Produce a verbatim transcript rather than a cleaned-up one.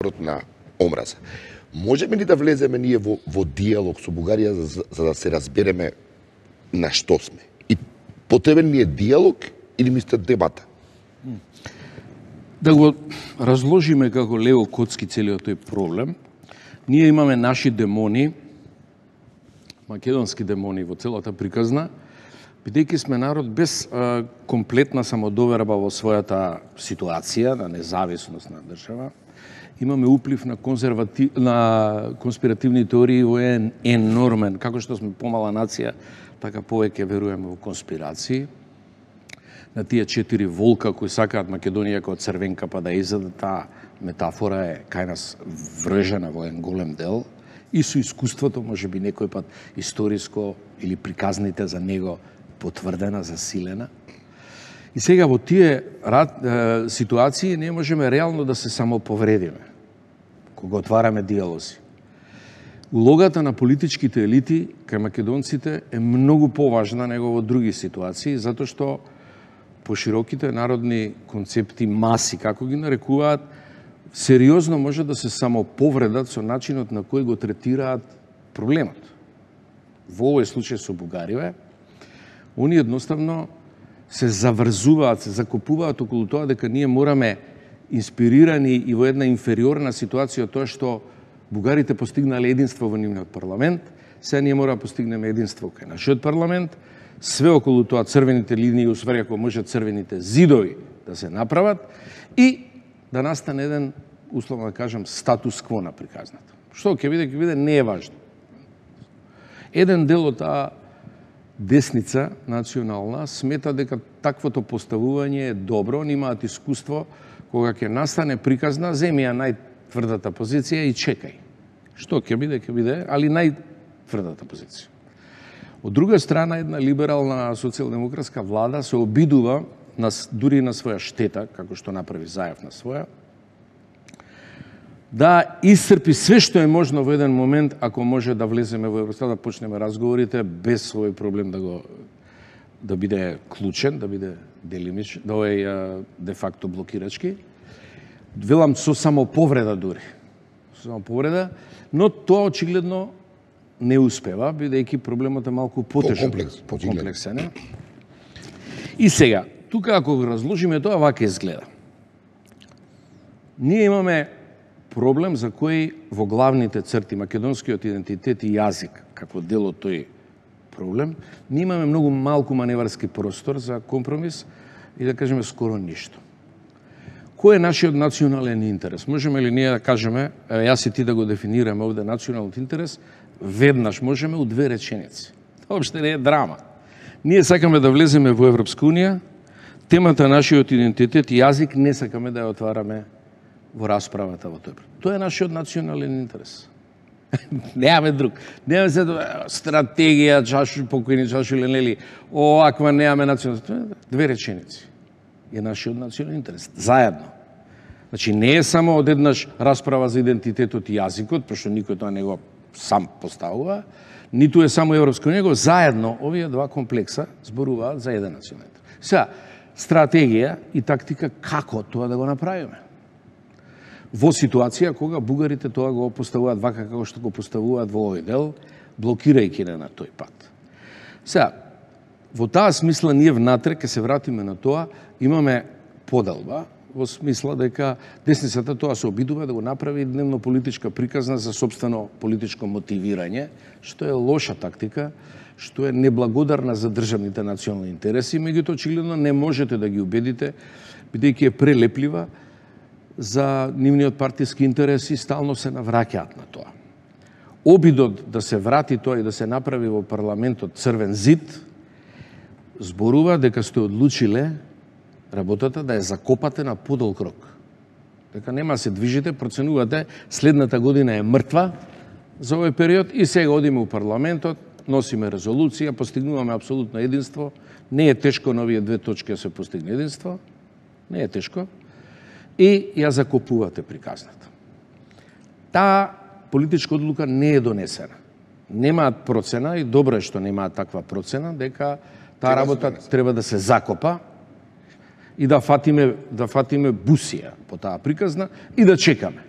на омраза. Можеме ли да влеземе ние во, во диалог со Бугарија за, за да се разбереме на што сме? И потребен ли е диалог или мислите дебата? Да го разложиме како лево коцки целиот тој проблем, ние имаме наши демони, македонски демони во целата приказна, бидејќи сме народ без а, комплетна самодоверба во својата ситуација, на независност на држава. Имаме уплив на, конзервати... на конспиративни теории во еден енормен, како што сме помала нација, така повеќе веруваме во конспирации. На тие четири волка кои сакаат Македонија како црвенка па да изедат, таа метафора е кај нас вржена во еден голем дел. И со искуството, може би некој пат историско или приказните за него потврдена, засилена. И сега во тие рад, е, ситуации не можеме реално да се самоповредиме кога отвараме диалози. Улогата на политичките елити кај македонците е многу поважна него во други ситуации, затоа што пошироките народни концепти, маси, како ги нарекуваат, сериозно може да се самоповредат со начинот на кој го третираат проблемот. Во овој случај со Бугарија, они едноставно се заврзуваат, се закупуваат околу тоа дека ние мораме инспирирани и во една инфериорна ситуација тоа што бугарите постигнале единство во нивниот парламент, сега ние мора да постигнеме единство кај нашиот парламент, све околу тоа црвените линии, усвари ако може црвените зидови да се направат и да настане еден, условно да кажам, статус кво на приказната. Што ќе биде, ќе биде, не е важно. Еден дел од таа десница национална смета дека таквото поставување е добро, они имаат искуство, кога ќе настане приказна, земи ја најтврдата позиција и чекај. Што ќе биде, ќе биде, али најтврдата позиција. Од друга страна, една либерална социјалдемократска влада се обидува, на, дури на своја штета, како што направи Заев на своја, да исцрпи све што е можно во еден момент, ако може да влеземе во Европа, да почнеме разговорите без овој проблем да го да биде клучен, да биде делимич, да е де факто блокирачки. Велам со самоповреда дури. Со самоповреда, но тоа очигледно не успева, бидејќи проблемот е малку потежок, Комплекс, комплексен. И сега, тука ако го разложиме тоа, вака изгледа. Ние имаме проблем за кој во главните црти македонскиот идентитет и јазик, како дел од тој проблем, ние имаме многу малку маневарски простор за компромис и да кажеме скоро ништо. Кој е нашиот национален интерес? Можеме ли ние да кажеме, јас и ти да го дефинираме овде националниот интерес, веднаш можеме у две реченици. Тоа опште не е драма. Ние сакаме да влеземе во Европска унија, темата нашиот идентитет и јазик не сакаме да ја отвараме во расправата во тој. Тоа е нашиот национален интерес. Немаме друг. Немаме се стратегија, чашу покојни, чашу ленели, оваква немаме национален. Две реченици е нашиот национален интерес. Заедно. Значи не е само одеднаш расправа за идентитетот и јазикот, пошто никој тоа не го сам поставува, ниту е само Европска унија, него заедно овие два комплекса зборуваат за еден национален интерес. Сега, стратегија и тактика како тоа да го направиме. Во ситуација кога бугарите тоа го поставуваат вака како што го поставуваат во овој дел, блокирајќи не на тој пат. Сега, во таа смисла ние внатре, ке се вратиме на тоа, имаме поделба, во смисла дека десницата тоа се обидува да го направи дневно политичка приказна за собствено политичко мотивирање, што е лоша тактика, што е неблагодарна за државните национални интереси, меѓутоа очигледно не можете да ги убедите, бидејќи е прелеплива за нивниот партиски интерес и стално се навраќаат на тоа. Обидот да се врати тоа и да се направи во парламентот црвен зид, зборува дека сте одлучиле работата да ја закопате на подолг рок. Дека нема се движите, проценувате, следната година е мртва за овој период и сега одиме у парламентот, носиме резолуција, постигнуваме апсолутно единство. Не е тешко на овие две точки да се постигне единство. Не е тешко. И ја закопувате приказната. Таа политичка одлука не е донесена. Немаат процена и добро е што немаат таква процена дека таа работа треба да се закопа и да фатиме да фатиме бусија по таа приказна и да чекаме.